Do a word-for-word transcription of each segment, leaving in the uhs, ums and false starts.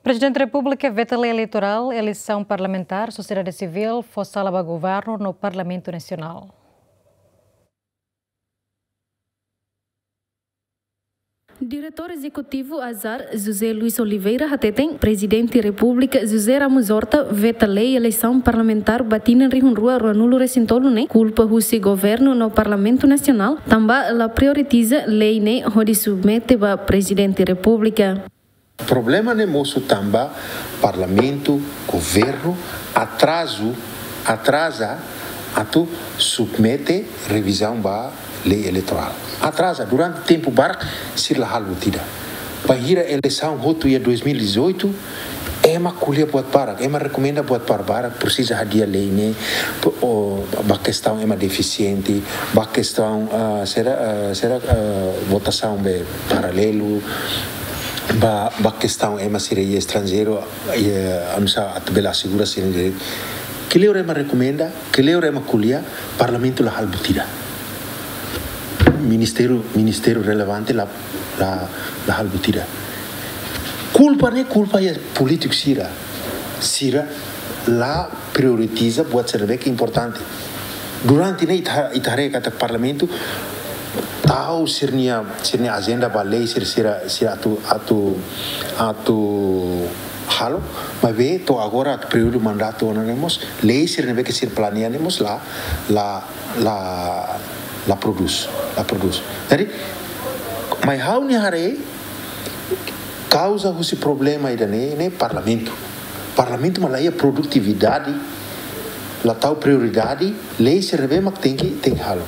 Prezidente Repúblika veta lei eleitorál, eleisaun parlamentár, sosiedade sivíl fó sala ba governu no Parlamentu Nasionál. Diretór Ezekutivu ASAR, José Luís Oliveira, hateten Prezidente Repúblika José Ramos Horta veta lei eleisaun parlamentár ba tinan rihun rua ruanulu resin tolu ne'e kulpa husi governu no Parlamentu Nasionál, tanba la prioritiza lei ne'e hodi submete ba Prezidente Repúblika. Problema ne'e mosu tanba Parlamentu, governu atrazu, atraza atu submete revizaun ba lei eleitorál. Atraza durante tempu barak, sira la halo buat ida. Bainhira eleisaun hotu iha dois mil e dezoito, ema ko'alia buat barak, ema rekomenda buat barak, barak, presiza hadi'a lei ne'e, p-, o, ba kestaun ema defisiente, ba kestaun, ah, sira, ah, sira, ah, votasaun be paralelu, ba, ba kestaun ema sira iha estranjeiru, eh, oinsá atu bele asegura sira direitu. Kleur ema rekomenda, kleur ema ko'alia, Parlamentu la halo buat ida. Ministériu, ministériu relevante la, la, la halo buat ida. Kulpa ne'e kulpa iha polítiku sira. Sira la prioritiza buat sira ne'ebé ke importante. Durante ne'e ita, ita haree katak Parlamentu tau sira-nia, sira-nia ajenda ba lei sira, sira, sira atu, atu, atu halo, maibé to'o agora períodu mandatu ona ne'e mós, lei sira ne'ebé ke sira planeia ne'e mós la, la, la, la prodús, la prodús. Jadi, mai ha'u-nia haree, kauza husi problema ida-ne'e, ne'e Parlamentu. Parlamentu mak la iha produtividade, la tau prioridade, lei sira ne'ebé mak tenke, tenke halo.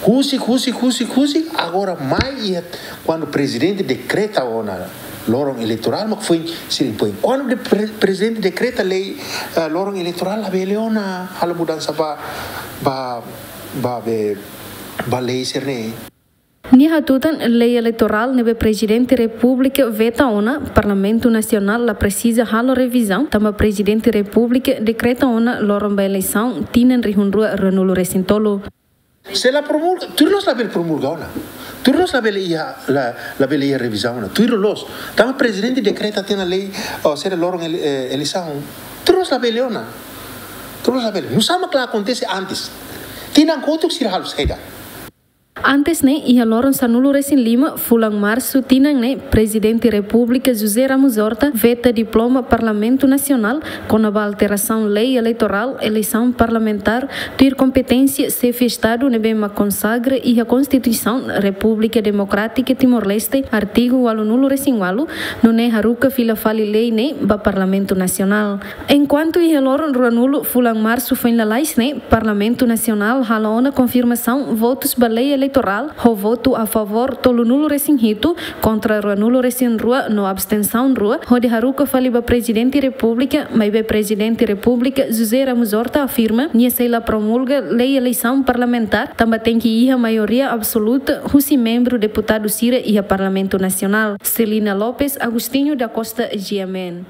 Husik, husik, husik, husik, agora mai iha kuandu Prezidente dekreta ona loron eleitorál mak foin sira impoin. Kuandu de pre-, Prezidente dekreta lei, eh, loron eleitorál, labele ona halo mudansa ba, ba, ba be, ba lei sira-ne'e. Nia hatutan lei eleitorál ne'ebé Prezidente Repúblika veta ona, Parlamentu Nasionál la presiza halo revizaun, tanba Prezidente Repúblika dekreta ona loron ba eleisaun tinan rihun rua ruanulu resin tolu. Se la promulga, tuir loos labele promulga ona. Tuir loos labele iha, la, labele iha revizaun ona. Tuir loos. Tanba Prezidente dekreta tiha ona lei, o, sira loron ele-, eh, eleisaun. Tuir loos labele ona. Tuir loos labele. Nusá mak la akontese antes? Tinan kotuk sira halo saida? Antes ne'e, iha loron sanulu resin lima, fulan Marsu tinan ne'e, Prezidente Repúblika José Ramos Horta veta diploma Parlamentu Nasionál kona-ba alterasaun lei eleitorál, eleisaun parlamentár, tuir kompeténsia xefe Estadu ne'ebé mak konsagra iha Konstituisaun Repúblika Demokrátika Timor-Leste, artigu ualunulu resin ualu, nune'e haruka fila fali lei ne'e ba Parlamentu Nasionál. Enkuantu iha loron ruanulu fulan Marsu foin lalais ne'e, Parlamentu Nasionál halo ona konfirmasaun votus ba lei eleitorál, ho votu a favór tolunulu resin hitu, kontra ruanulu resin rua no abstensaun rua, hodi haruka fali ba Prezidente Repúblika, maibé Prezidente Repúblika José Ramos Horta afirma, nia sei la promulga lei eleisaun parlamentár, tanba tenke iha maioria absoluta husi membru deputadu sira iha Parlamentu Nasionál. Celina Lopes, Agostinho da Costa, G M N.